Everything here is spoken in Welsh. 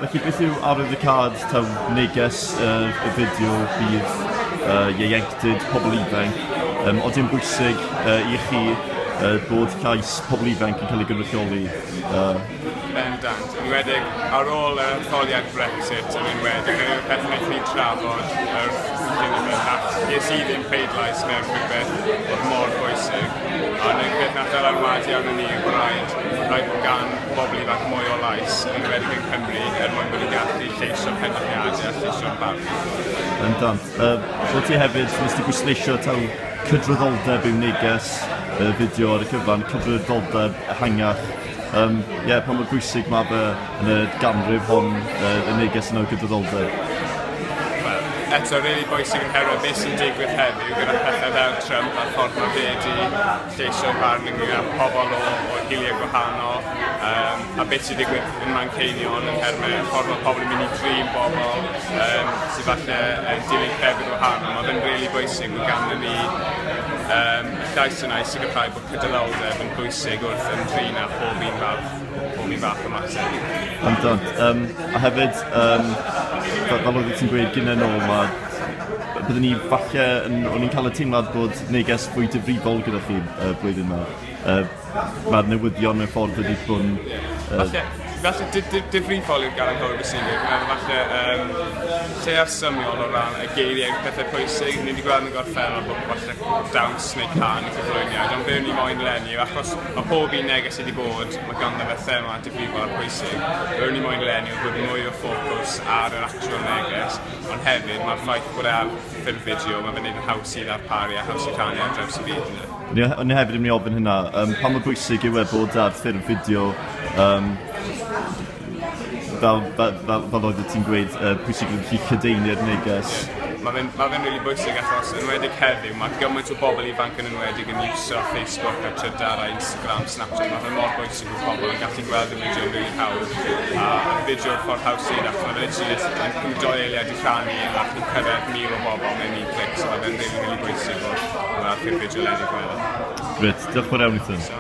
Felly beth yw arwyddocâd taw neges y fideo bydd ieuenctid, pobl ifanc, oedden bwysig i chi bod llais pobl ifanc yn cael ei gynrychioli? Bendant. Yn enwedig ar ôl yr etholiad Brexit, yn enwedig, yr peth wnaeth ni trafod yr ges i ddim pleidlais mewn rhywbeth oedd mor bwysig. Ond y peth nath ddylanwadu arno ni yw bod rhaid bod gan bobl ifanc mwy o lais, yn enwedig yng Nghymru, er mwyn bod ni'n gallu lleisio penderfyniadau a lleisio'n barn. Bendant. Wel ti hefyd, nes ti bwysleisio taw cydraddoldeb yw neges y fideo ar y cyfan, cydraddoldeb ehangach. Yeah, pa mor bwysig mae fe yn y ganrif hon, y neges yna o gydraddoldeb? Wel, eto, really bwysig yn herwydd beth sy'n digwydd heddiw gyda pethau fel Trump a'r ffordd mae fe wedi lleisio barn ynglyn â pobl o hiliau gwahanol, a beth sy'n digwydd yn Manceinion yn termau y ffordd mae pobl yn mynd i drin bobl sydd falle yn dilyn crefydd wahanol. Mae fe'n really bwysig bod ganddo ni llais yna i sicrhau bod cydraddoldeb yn bwysig wrth ymdrin â pob un fath o mater. Bendant. A hefyd, fel oeddet ti'n gweud gynnau nôl, mae byddwn ni falle, o'n i'n cael y teimlad bod neges fwy difrifol gyda chi blwyddyn yma. Mae'r newyddion mewn ffordd wedi bod yn Falle difrifol yw'r gair anghywir beth sy'n dweud. Dwi'n meddwl falle lleiaf symiol o ran y geiriau pethau pwysig. Ni wedi gweld yn y gorffennol bod falle dawns neu cân neu cyflwyniad, ond be o'n i moyn leni yw achos mae pob un neges sydd wedi bod, mae ganddo fe thema difrifol a pwysig. Be o'n i moyn leni yw bod mwy o ffocws ar yr actual neges, ond hefyd mae'r ffaith bod e ar ffurf fideo, mae fe'n neud yn haws i ddarparu a haws i rhannu ar draws y byd, ynde? O'n i hefyd yn mynd i ofyn hynna, pa mor bwysig yw e bod ar ffurf fideo, fel oeddet ti'n gweud, pwysig yw chi lledaenu'r neges? Mae fe'n really bwysig achos yn enwedig heddiw, mae gymaint o bobl ifanc yn enwedig yn iwso Facebook a Twitter a Instagram, Snapchat. Mae fe'n mor bwysig bod pobl yn gallu gweld y fideo yn really hawdd. A y fideo'r ffordd haws i achos mae fe literally yn cymryd 2 eiliad i rhannu a chi'n cyrraedd 1,000 o bobl mewn un clic. So mae fe'n really, really bwysig bod ar ffurf fideo leni, dwi'n meddwl. Grêt, diolch yn fawr iawn i ti. So,